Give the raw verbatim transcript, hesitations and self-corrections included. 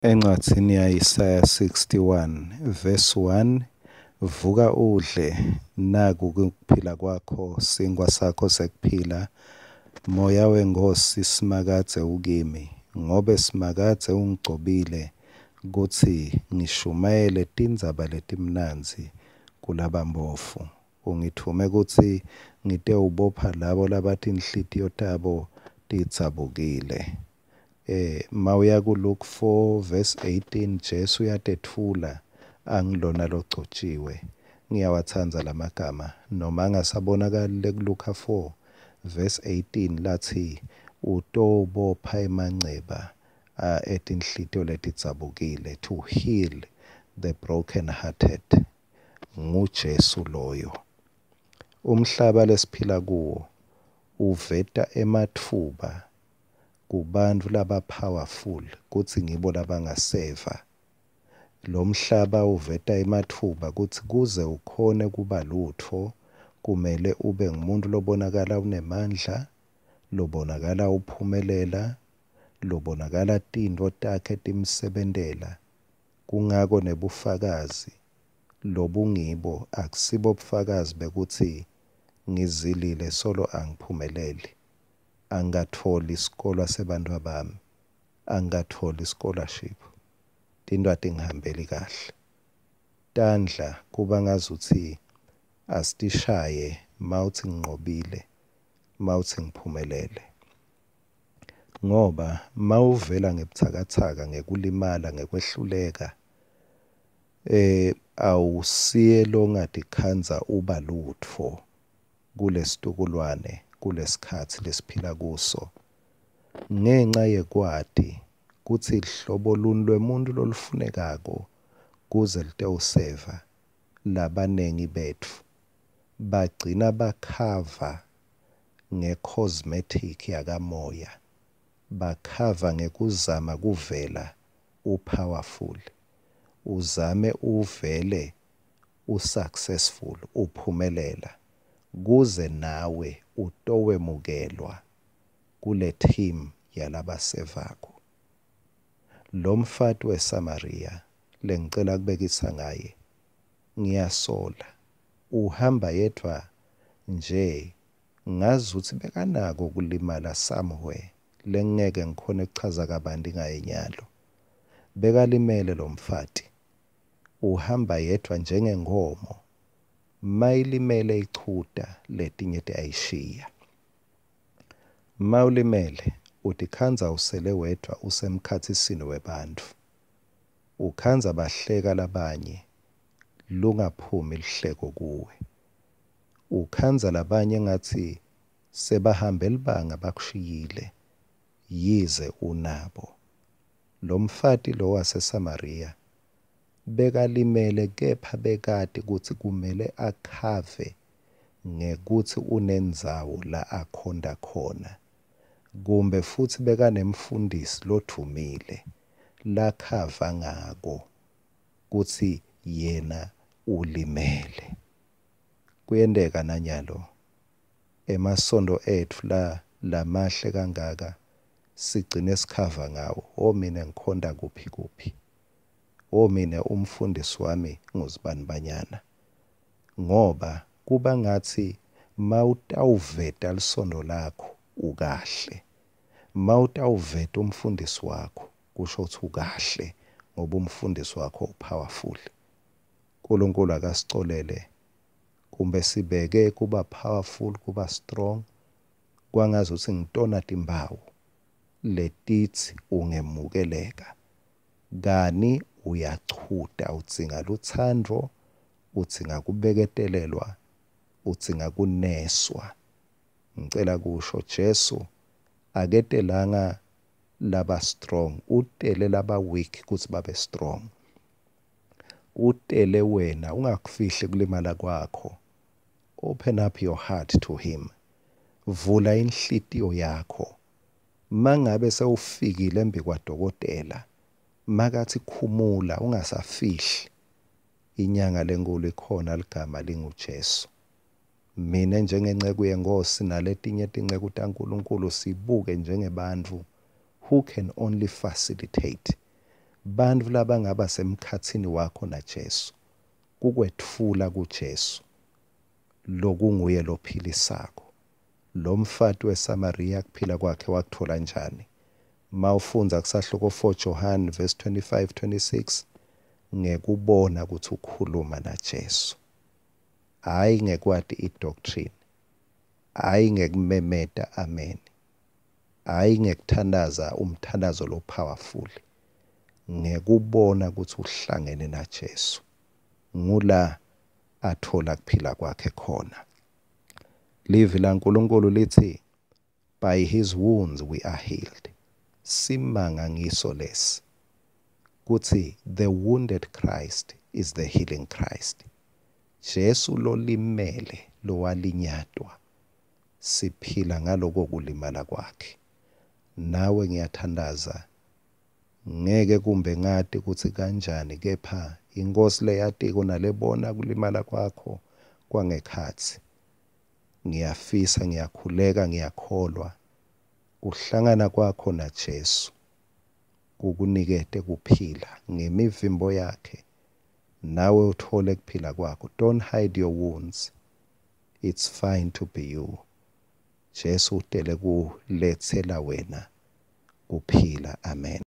Encwadzini ya-Isaya sixty-one verse one, vuka udle, naku kuphila kwakho, sinkhwa sakho sekuphila. Moya weNkhosi Simakadze ukimi, ngobe Simakadze ungigcobile kutsi ngishumayele tindzaba letimnandzi kulabampofu. Ungitfume kutsi ngitewubopha labo labatinhlitiyo tabo tidzabukile. Eh mawuya ku Luke four verse eighteen, Jesu uyatetfula angilona logcotjiwe. Ngiyawatsandza lamagama noma angasabonakali le Luka four verse eighteen lathi utobopha emanceba etinhlitiyo letidzabukile, to heal the broken hearted. NguJesu loyo. Umhlaba lesiphila kuwo uveta ematfuba kubantfu laba powerful kutsi ngibo labangaseva. Lo mhlaba uveta ematfuba kutsi kuze ukhone kuba lutfo kumele ube ngumuntu lobonakala unemandla, lobonakala uphumelela, lobonakala tintfo takhe timsebentela. Kungako nebufakazi lobungibo akusibo bufakazi bekuthi ngizilile solo angiphumeleli, angatholi isikolwa sebantfu bami, angatholi scholarship, tintfo atingihambeli kahle. Tandla kuba ngazuthi asitishaye mawuthi nginqobile, mawuthi ngiphumelele. Ngoba mawuvela ngebutsakatsaka, ngekulimala, ngekwehluleka, eh awusiye longatikhandza uba lutfo kulesitukulwane, kulesikhatsi lesiphila kuso. Ngenxa yekwati kutsi hlobo luni lwemuntu lolufunekako kuze litewuseva, labanengi betfu bagcina bakhava nge-cosmetic yakamoya, bakhava ngekuzama kuvela u-powerful, uzame uvele u-successful, uphumelela, kuze nawe utowemukelwa kule team yalabasevako. Lo mfati weSamaria lengicela kubekisa ngaye, ngiyasola uhamba yedvwa nje, ngazuthi bekanako kulimala somewhere lengeke ngikhone kuchaza kabanti ngaye nyalo. Bekalimele lo mfati, uhamba yedvwa njengenkomo, mayilimele ichuta letinye tiyayishiya. Mawulimele utikhandza usele wedvwa usemkhatsisini webantfu, ukhandza bahleka labanye lungaphumi lihleko kuwe, ukhandza labanye ngathi sebahambe libanga bakushiyile yize unabo. Lo mfati lo waseSamaria bekalimele, kepha bekati kutsi kumele akhave ngekuthi unendzawo la akhonta khona, kumbe futsi bekanemfundisi lodvumile lakhava ngako kutsi yena ulimele. Kuyenteka nanyalo emasondo etfu la lamahle kangaka sigcine sikhava ngawo. O mina ngikhonta kuphi kuphi, o mina umfundisi wami ngusibanibanyana, ngoba kuba ngathi mawutawuveta lisondo lakho ukahle, mawutawuveta umfundisi wakho kusho ukuthi ukahle, ngoba umfundisi wakho upowerful. uNkulunkulu akasicolele kumbe sibeke kuba powerful, kuba strong, kwangazuthi ngitona timphawu letithi ungemukeleka. Kani uyachuta, udzinga lutsandvo, udzinga kubeketelelwa, udzinga kuneswa. Ngicela kusho Jesu aketelanga laba strong, utele laba weak kutsi babe strong. Utele wena ungakufihli kulimala kwakho. Open up your heart to him. Vula inhlitiyo yakho. Mangabe sewufikile embikwadokotela, makathi khumula ungasafihli. Inyanga lenkulu ikhona, ligama linguJesu. Mine njengenceku yeNkhosi naletinye tinceku taNkulunkulu sibuke njengebantfu who can only facilitate. Bantfu labangaba semkhatsini wakho naJesu, kukwetfula kuJesu, lokunguye lophilisako. Lomfati weSamariya kuphila kwakhe wakutfola njani? Mawufundza kusahluko four John verse twenty-five twenty-six, ngekubona kutsi ukhuluma naJesu. Hayi ngekwati i-doctrine, hayi ngekumemeta amen, hayi ngekuthandaza umthandazo lo powerful, ngekubona kutsi uhlangene naJesu. Ngula athola kuphila kwakhe khona. Livi laNkulunkulu lithi by his wounds we are healed. Simanga ngiso lesi kutsi the wounded Christ is the healing Christ. Jesu lolimele lowalinyatwa, siphila ngaloko kulimala kwakhe. Nawe ngiyathandaza, ngeke kumbe ngati kutsi kanjani, kepha iNkosi leyatiko nalebona kulimala kwakho kwangekhatsi. Ngiyafisa, ngiyakhuleka, ngiyakholwa kuhlangana kwakho naJesu kukunikete kuphila ngemivimbo yakhe, nawe uthole kuphila kwakho. Don't hide your wounds, it's fine to be you. Jesu utele kuletsela wena kuphila. Amen.